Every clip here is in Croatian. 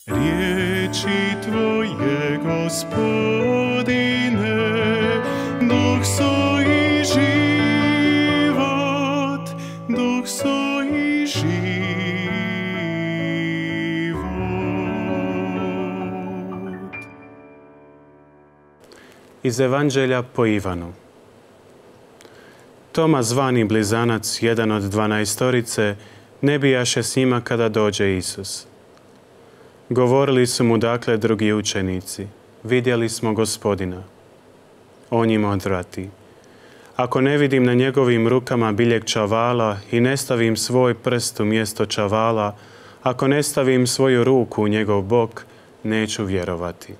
Riječi Tvoje, Gospodine, duh su i život, duh su i život. Iz Evanđelja po Ivanu. Toma, zvani Blizanac, jedan od 12-torice, ne bijaše s njima kada dođe Isus. Govorili su mu dakle drugi učenici, vidjeli smo Gospodina. On im odvrati, ako ne vidim na njegovim rukama biljeg čavala i ne stavim svoj prst u mjesto čavala, ako ne stavim svoju ruku u njegov bok, neću vjerovati.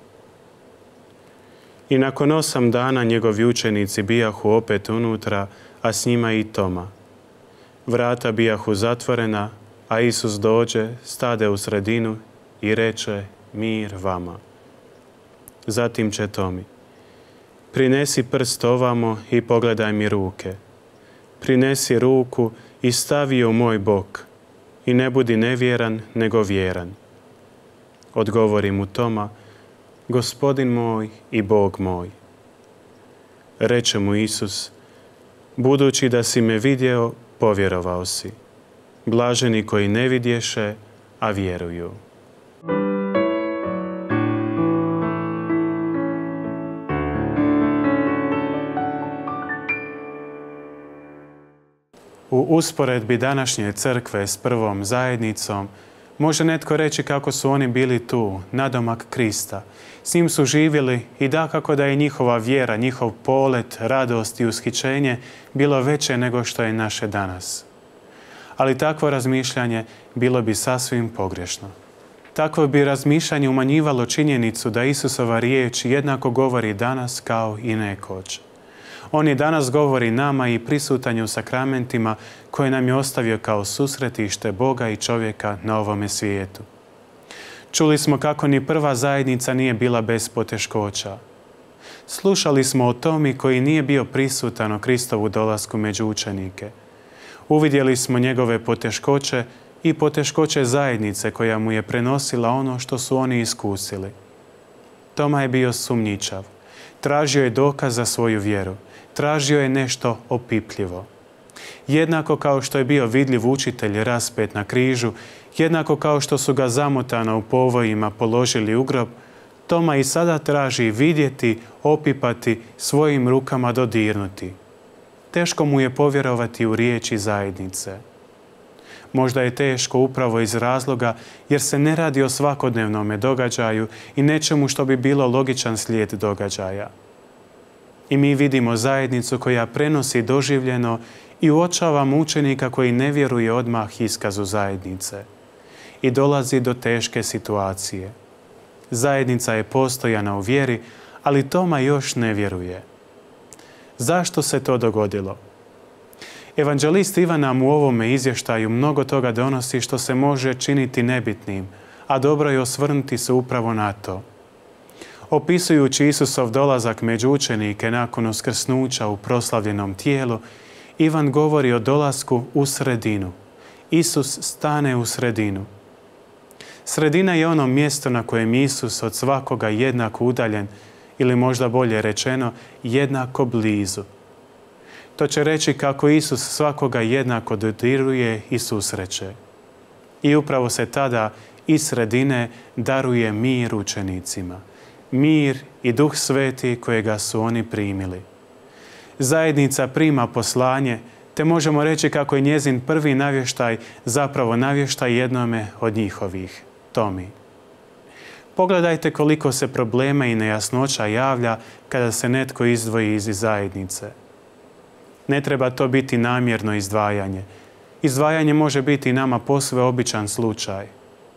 I nakon 8 dana njegovi učenici bijahu opet unutra, a s njima i Toma. Vrata bijahu zatvorena, a Isus dođe, stade u sredinu i reče, mir vama. Zatim će Tomi, prinesi prst ovamo i pogledaj mi ruke. Prinesi ruku i stavi je u moj bok i ne budi nevjeran, nego vjeran. Odgovori mu Toma, Gospodin moj i Bog moj. Reče mu Isus, budući da si me vidio, povjerovao si. Blaženi koji ne vidješe, a vjeruju. U usporedbi današnje crkve s prvom zajednicom može netko reći kako su oni bili tu, nadomak Krista. S njim su živjeli i dakako da je njihova vjera, njihov polet, radost i ushićenje bilo veće nego što je naše danas. Ali takvo razmišljanje bilo bi sasvim pogrešno. Takvo bi razmišljanje umanjivalo činjenicu da Isusova riječ jednako govori danas kao i nekoć. On i danas govori nama i prisutan je u sakramentima koje nam je ostavio kao susretište Boga i čovjeka na ovome svijetu. Čuli smo kako ni prva zajednica nije bila bez poteškoća. Slušali smo o Tomi koji nije bio prisutan o Kristovu dolasku među učenike. Uvidjeli smo njegove poteškoće i poteškoće zajednice koja mu je prenosila ono što su oni iskusili. Toma je bio sumnjičav. Tražio je dokaz za svoju vjeru. Tražio je nešto opipljivo. Jednako kao što je bio vidljiv učitelj raspet na križu, jednako kao što su ga zamotano u povojima položili u grob, Toma i sada traži vidjeti, opipati, svojim rukama dodirnuti. Teško mu je povjerovati u riječi zajednice. Možda je teško upravo iz razloga jer se ne radi o svakodnevnome događaju i nečemu što bi bilo logičan slijed događaja. I mi vidimo zajednicu koja prenosi doživljeno i uočavamo učenika koji ne vjeruje odmah iskazu zajednice. I dolazi do teške situacije. Zajednica je postojana u vjeri, ali Toma još ne vjeruje. Zašto se to dogodilo? Evanđelist Ivan nam u ovome izvještaju mnogo toga donosi što se može činiti nebitnim, a dobro je osvrnuti se upravo na to. Opisujući Isusov dolazak među učenike nakon uskrsnuća u proslavljenom tijelu, Ivan govori o dolasku u sredinu. Isus stane u sredinu. Sredina je ono mjesto na kojem Isus od svakoga jednako udaljen, ili možda bolje rečeno, jednako blizu. To će reći kako Isus svakoga jednako dodiruje i susreće. I upravo se tada iz sredine daruje mir učenicima. Mir i Duh Sveti kojega su oni primili. Zajednica prima poslanje, te možemo reći kako je njezin prvi navještaj zapravo navještaj jednome od njihovih, Tomi. Pogledajte koliko se problema i nejasnoća javlja kada se netko izdvoji iz zajednice. Ne treba to biti namjerno izdvajanje. Izdvajanje može biti nama posve običan slučaj.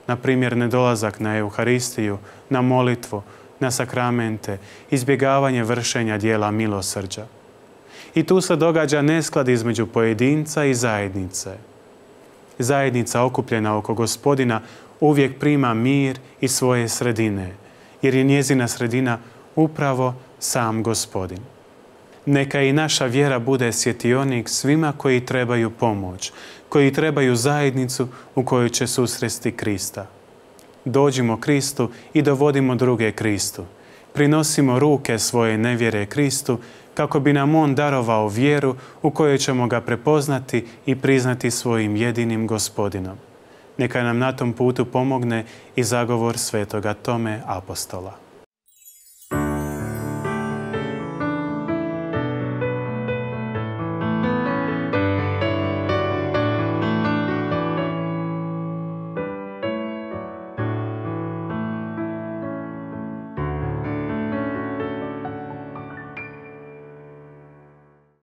Na primjer, nedolazak na Euharistiju, na molitvu, na sakramente, izbjegavanje vršenja dijela milosrđa. I tu se događa nesklad između pojedinca i zajednice. Zajednica okupljena oko Gospodina uvijek prima mir iz svoje sredine, jer je njezina sredina upravo sam Gospodin. Neka i naša vjera bude svjetionik svima koji trebaju pomoć, koji trebaju zajednicu u kojoj će susresti Krista. dođimo Kristu i dovodimo druge Kristu. Prinosimo ruke svoje nevjere Kristu kako bi nam On darovao vjeru u kojoj ćemo ga prepoznati i priznati svojim jedinim Gospodinom. Neka nam na tom putu pomogne i zagovor svetoga Tome apostola.